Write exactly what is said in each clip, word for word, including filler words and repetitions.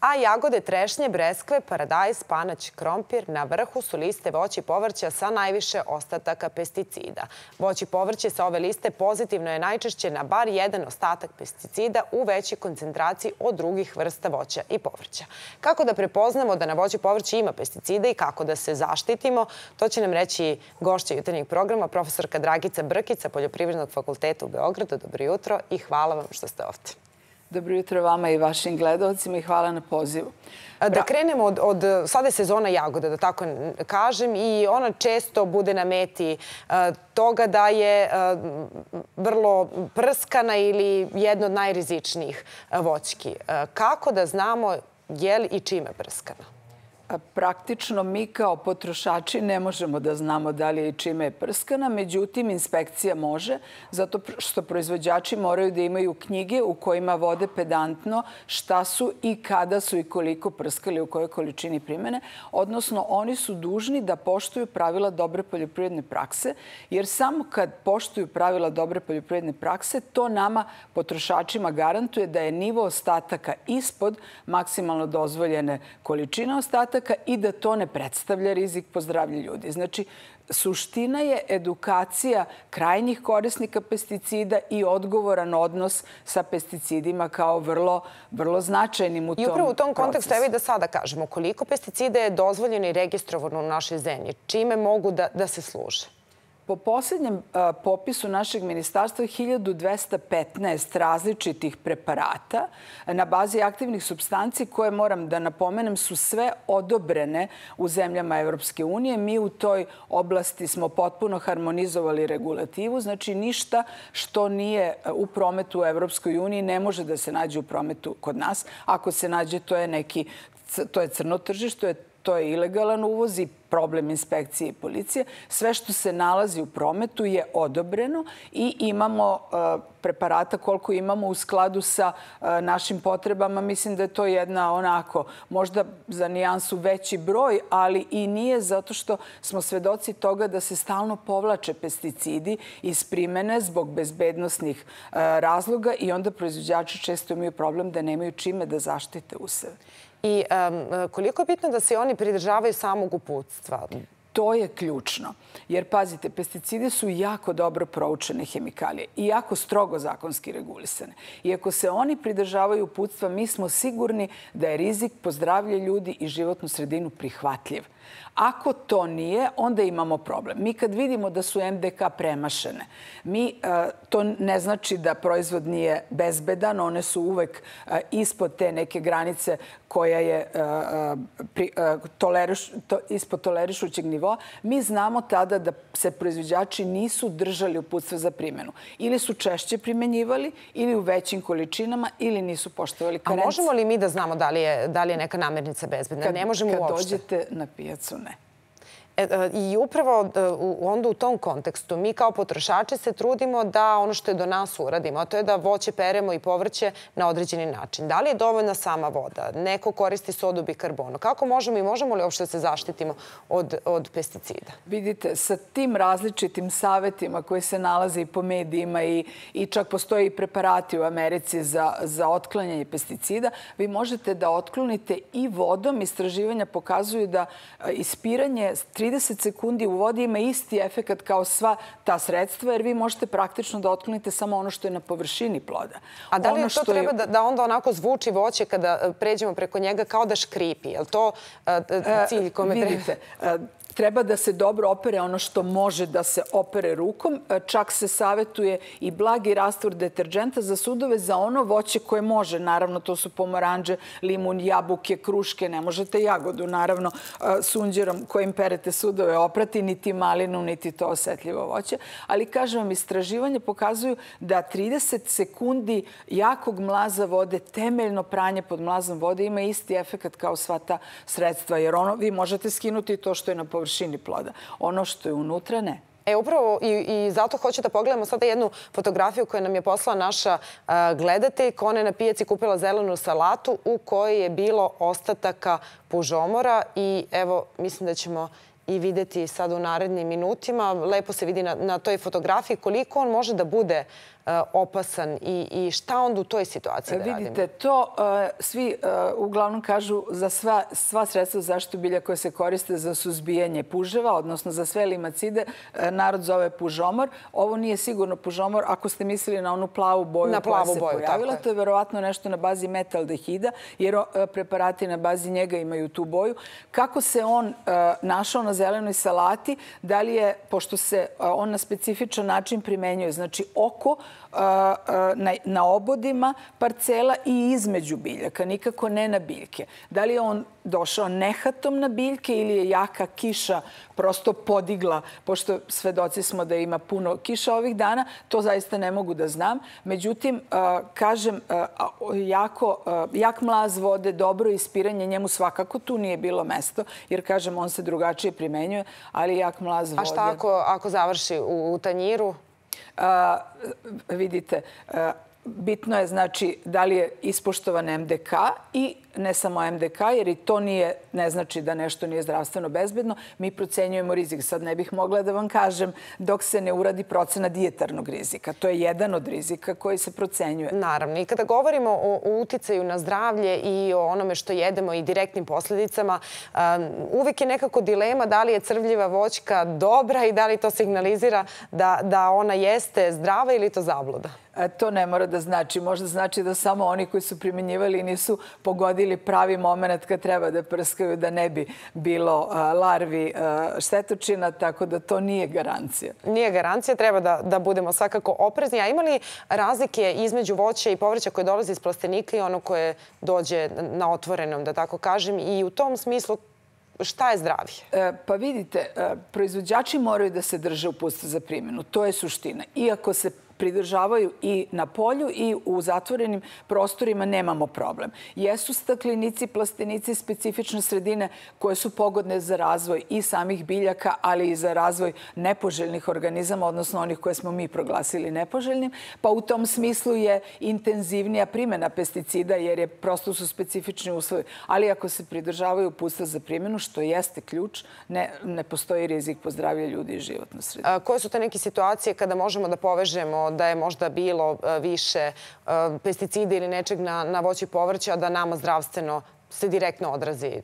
A jagode, trešnje, breskve, paradajz, panać, krompir na vrhu su liste voća i povrća sa najviše ostataka pesticida. Voće i povrće sa ove liste pozitivno je najčešće na bar jedan ostatak pesticida u većoj koncentraciji od drugih vrsta voća i povrća. Kako da prepoznamo da na voće i povrće ima pesticida i kako da se zaštitimo, to će nam reći gošća jutarnjeg programa, profesorka Dragica Brkić sa Poljoprivrednog fakulteta u Beogradu. Dobro jutro i hvala vam što ste ovdje. Dobro jutro vama i vašim gledalcima i hvala na pozivu. Da krenemo od, od sada je sezona jagoda, da tako kažem, i ona često bude na meti uh, toga da je uh, vrlo prskana ili jedno od najrizičnijih uh, voćki. Uh, kako da znamo je li i čime prskana? Praktično mi kao potrošači ne možemo da znamo da li je i čime je prskana, međutim inspekcija može, zato što proizvođači moraju da imaju knjige u kojima vode pedantno šta su i kada su i koliko prskali, u kojoj količini primene, odnosno oni su dužni da poštuju pravila dobre poljoprivredne prakse, jer samo kad poštuju pravila dobre poljoprivredne prakse, to nama potrošačima garantuje da je nivo ostataka ispod maksimalno dozvoljene količine ostataka i da to ne predstavlja rizik po zdravlje ljudi. Znači, suština je edukacija krajnjih korisnika pesticida i odgovoran odnos sa pesticidima kao vrlo, vrlo značajnim u tom procesu. I upravo u tom kontekstu, evo i da sada kažemo, koliko pesticida je dozvoljeno i registrovano u našoj zemlji? Čime mogu da, da se služe? Po posljednjem popisu našeg ministarstva hiljadu dvesta petnaest različitih preparata na bazi aktivnih supstanci koje, moram da napomenem, su sve odobrene u zemljama Evropske unije. Mi u toj oblasti smo potpuno harmonizovali regulativu. Znači, ništa što nije u prometu u Evropskoj uniji ne može da se nađe u prometu kod nas. Ako se nađe, to je neki, to je crno tržište, to je ilegalan uvoz i problem inspekcije i policije. Sve što se nalazi u prometu je odobreno i imamo preparata koliko imamo u skladu sa našim potrebama. Mislim da je to jedna onako, možda za nijansu veći broj, ali i nije zato što smo svedoci toga da se stalno povlače pesticidi iz primene zbog bezbednosnih razloga i onda proizvođači često imaju problem da nemaju čime da zaštite useve. I um, koliko je bitno da se oni pridržavaju samog uputstva? To je ključno. Jer, pazite, pesticidi su jako dobro proučene hemikalije i jako strogo zakonski regulisane. I ako se oni pridržavaju uputstva, mi smo sigurni da je rizik po zdravlje ljudi i životnu sredinu prihvatljiv. Ako to nije, onda imamo problem. Mi kad vidimo da su em de ka premašene, mi, to ne znači da proizvod nije bezbedan, one su uvek ispod te neke granice koja je pri, toleriš, to, ispod tolerišućeg nivoa. Mi znamo tada da se proizvođači nisu držali uputstva za primjenu. Ili su češće primenjivali, ili u većim količinama, ili nisu poštovali karencije. A možemo li mi da znamo da li je, da li je neka namirnica bezbedna? Kad, ne možemo kad uopšte. dođete na pijacu, ne. I upravo onda u tom kontekstu mi kao potrošači se trudimo da ono što je do nas uradimo, a to je da voće peremo i povrće na određeni način. Da li je dovoljna sama voda? Neko koristi sodu bikarbono. Kako možemo i možemo li uopšte se zaštitimo od, od pesticida? Vidite, sa tim različitim savjetima koji se nalaze i po medijima i, i čak postoji i preparati u Americi za, za otklanjanje pesticida, vi možete da otklonite i vodom. Istraživanja pokazuju da ispiranje trideset sekundi u vodi ima isti efekat kao sva ta sredstva, jer vi možete praktično da otklonite samo ono što je na površini ploda. A da li ono to treba je... da, da onda onako zvuči voće kada pređemo preko njega kao da škripi? Je li to uh, cilj kome treba? Vidite, treba da se dobro opere ono što može da se opere rukom. Čak se savjetuje i blagi rastvor deterđenta za sudove za ono voće koje može. Naravno, to su pomoranđe, limun, jabuke, kruške. Ne možete jagodu, naravno, sunđerom kojim perete sudove oprati, niti malinu, niti to osetljivo voće. Ali, kažem vam, istraživanje pokazuju da trideset sekundi jakog mlaza vode, temeljno pranje pod mlazom vode, ima isti efekat kao sva ta sredstva. Jer ono, vi možete skinuti to što je na površini ploda. Ono što je unutra, ne. E, upravo i, i zato hoću da pogledamo sada jednu fotografiju koju nam je poslala naša a, gledateljka. Ona je na pijaci kupila zelenu salatu u kojoj je bilo ostataka pužomora i evo, mislim da ćemo i vidjeti sad u narednim minutima. Lepo se vidi na, na toj fotografiji koliko on može da bude opasan i šta onda u toj situaciji da radimo? Vidite, to svi uglavnom kažu za sva sredstva za zaštitu bilja koje se koriste za suzbijanje puževa, odnosno za sve limacide, narod zove pužomor. Ovo nije sigurno pužomor ako ste mislili na onu plavu boju koja se pojavila. To je verovatno nešto na bazi metaldehida, jer preparati na bazi njega imaju tu boju. Kako se on našao na zelenoj salati, da li je, pošto se on na specifičan način primenjuje, znači oko na obodima parcela i između biljaka, nikako ne na biljke. Da li je on došao nehatom na biljke ili je jaka kiša prosto podigla, pošto svedoci smo da ima puno kiša ovih dana, to zaista ne mogu da znam. Međutim, kažem, jak mlaz vode, dobro ispiranje, njemu svakako tu nije bilo mesto, jer, kažem, on se drugačije primenjuje, ali jak mlaz vode... A šta ako završi u tanjiru? Vidite, bitno je, znači, da li je ispoštovan em de ka i ne samo em de ka, jer i to ne znači da nešto nije zdravstveno bezbedno. Mi procenjujemo rizik. Sad ne bih mogla da vam kažem dok se ne uradi procena dijetarnog rizika. To je jedan od rizika koji se procenjuje. Naravno. I kada govorimo o uticaju na zdravlje i o onome što jedemo i direktnim posljedicama, uvijek je nekako dilema da li je crvljiva voćka dobra i da li to signalizira da ona jeste zdrava ili to zabluda. To ne mora da znači. Možda znači da samo oni koji su primjenjivali nisu pogodili pravi moment kad treba da prskaju, da ne bi bilo larvi štetočina, tako da to nije garancija. Nije garancija, treba da budemo svakako oprezni. A ima li razlike između voća i povrća koje dolazi iz plastenika i ono koje dođe na otvorenom, da tako kažem, i u tom smislu šta je zdravije? Pa vidite, proizvođači moraju da se drže uputstva za primjenu. To je suština. Iako se pridržavaju i na polju i u zatvorenim prostorima, nemamo problem. Jesu staklenici, plastenici specifične sredine koje su pogodne za razvoj i samih biljaka, ali i za razvoj nepoželjnih organizama, odnosno onih koje smo mi proglasili nepoželjnim. Pa u tom smislu je intenzivnija primjena pesticida, jer je prosto su specifični uslovi. Ali ako se pridržavaju uputstva za primjenu, što jeste ključ, ne postoji rizik po zdravlje ljudi i životnu sredinu. Koje su te neke situacije kada možemo da povežemo da je možda bilo više pesticida ili nečeg na voću i povrću, a da nama zdravstveno se direktno odrazi?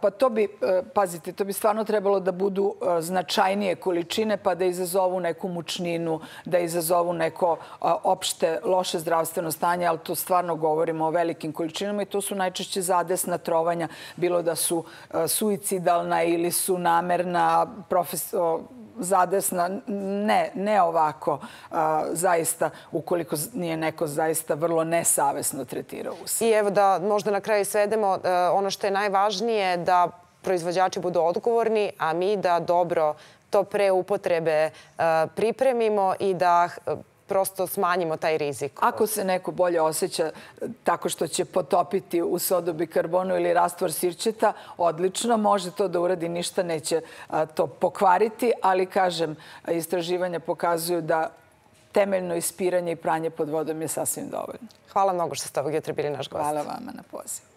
Pa to bi, pazite, to bi stvarno trebalo da budu značajnije količine, pa da izazovu neku mučninu, da izazovu neko opšte loše zdravstveno stanje, ali to stvarno govorimo o velikim količinama i to su najčešće zadesna trovanja, bilo da su suicidalna ili su namerna, zadesna, ne, ne ovako, zaista, ukoliko nije neko zaista vrlo nesavesno tretirao usad. I evo da možda na kraju svedemo, ono što je najvažnije da proizvođači budu odgovorni, a mi da dobro to pre upotrebe pripremimo i da prosto smanjimo taj rizik. Ako se neko bolje osjeća tako što će potopiti u sodu bikarbonu ili rastvor sirćeta, odlično, može to da uradi, ništa neće to pokvariti, ali, kažem, istraživanja pokazuju da temeljno ispiranje i pranje pod vodom je sasvim dovoljno. Hvala mnogo što ste ovog jutra bili naš gost. Hvala vama na pozivu.